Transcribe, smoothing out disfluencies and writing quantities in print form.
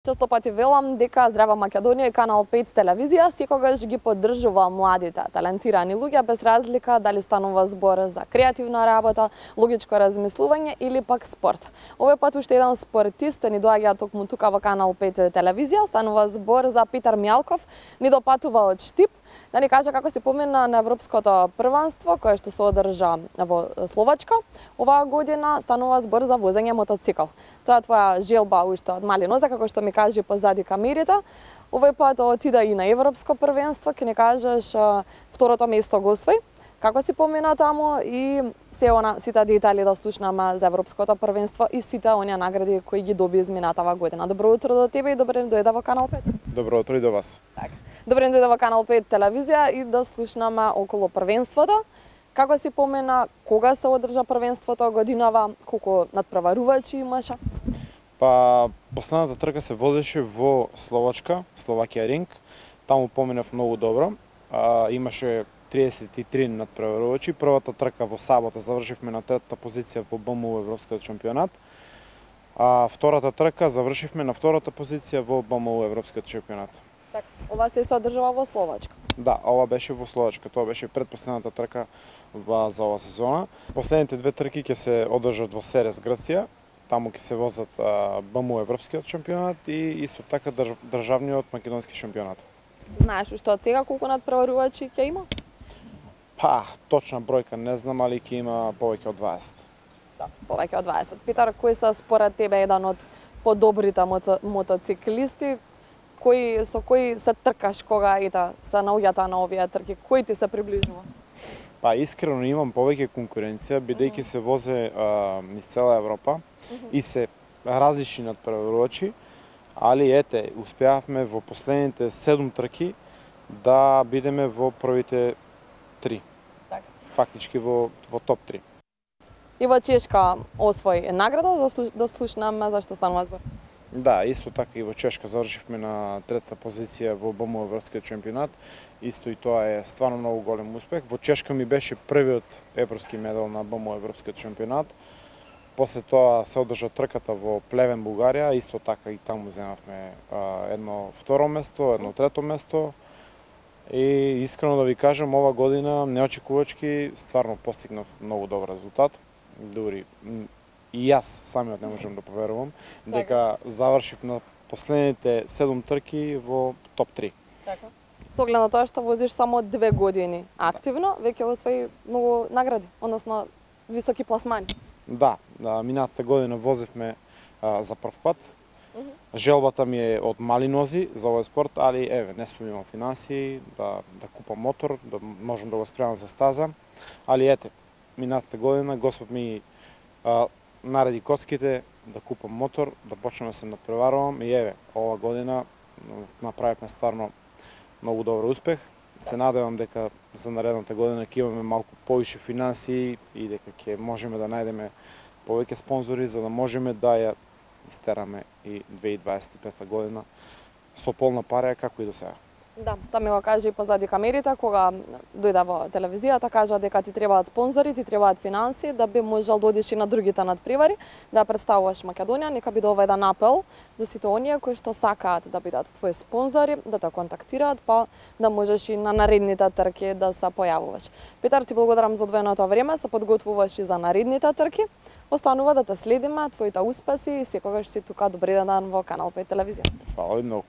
Често пати велам дека Здрава Македонија и Канал 5 телевизија секогаш ги поддржува младите, талентирани луѓе без разлика дали станува збор за креативна работа, логичко размислување или пак спорт. Овој пат уште еден спортист ни доаѓа токму тука во Канал 5 телевизија, станува збор за Питар Мјалков, ни допатува од Штип, да ни каже како се помина на Европското првенство кое што се одржа во Словачка. Оваа година станува збор за возење мотоцикл. Тоа е твоја желба уште од мали нозе, како што ми кажи позади камерите. Овој пат отида и на Европско првенство, ќе ни кажеш второто место го освои. Како си помина таму и сите детали да слушнаме за Европското првенство и сите оние награди кои ги доби изминатава година. Добро утро до тебе и добре дојде во Канал 5. Добро утро и до вас. Така. Добре дојде во Канал 5 телевизија и да слушнаме околу првенството. Како си помена, кога се одржа првенството годинава, колку надпреварувачи имаше? Па, последната трка се водеше во Словачка, Словакија ринг. Таму поминав многу добро. Имаше 33 надпреварувачи. Првата трка во сабота завршивме на третата позиција во БМУ Европскиот шампионат. А втората трка завршивме на втората позиција во БМУ Европскиот шампионат. Така, ова се одржува во Словачка. Да, ова беше во Словачка. Тоа беше предпоследната трка за оваа сезона. Последните две трки ќе се одржат во Серес, Грција. Таму ќе се возат БМУ Европскиот шампионат и исто така државниот македонски шампионат. Знаеш уште од сега колку надпреварувачи ќе има? Па, точна бројка не знам, али ќе има повеќе од 20. Да, повеќе од 20. Питар, кој се според тебе еден од подобрите мотоциклисти? Со кој се тркаш кога се наоѓате на овие трки? Кој ти се приближува? Па искрено имам повеќе конкуренција, бидејќи се возе низ цела Европа и се различни надпреварувачи, али ете, успеавме во последните 7 трки да бидеме во првите 3. Така. Фактички во топ 3. И во Чешка освои награда, да слушнаме зашто станува збор. Да, исто така и во Чешка завршивме на третата позиција во БМУ Европскиот шампионат. Исто и тоа е стварно многу голем успех. Во Чешка ми беше првиот европски медал на БМУ Европскиот шампионат. После тоа се одржа трката во Плевен, Бугарија, исто така и таму земавме едно второ место, едно трето место. И искрено да ви кажам, ова година неочекувачки стварно постигнав многу добар резултат. Дури и јас самиот не можам да поверувам дека завршив на последните 7 трки во топ 3. Така. Со оглед на тоа што возиш само 2 години активно, веќе освои многу награди, односно високи пласмани. Да, минатата година возевме за прв пат. Желбата ми е од мали нози за овој спорт, али еве, не сум имал финансии да купам мотор, да можам да го спремам за стаза. Али ете, минатата година Господ ми нареди коцките да купам мотор, да почнем да се надпреварувам и еве, ова година направивме стварно многу добар успех. Се надевам дека за наредната година ќе имаме малку повише финансии и дека ќе можеме да најдеме повеќе спонзори за да можеме да ја истераме и 2025 година со полна пареја како и до сега. Да, тоа ми го кажа и позади камерите, кога дојде во телевизијата, кажа дека ти требаат спонзори, ти требаат финансии, да би можел да одиш и на другите надпревари, да представуваш Македонија, нека биде ова еден апел за сите оние кои што сакаат да бидат твои спонзори, да те контактираат, па да можеш и на наредните трки да се појавуваш. Питар, ти благодарам за одвоеното време, се подготвуваш и за наредните трки. Останува да те следиме, твоите успеси и секогаш си тука. Добри ден во Канал 5 телевизија. Фала ви многу.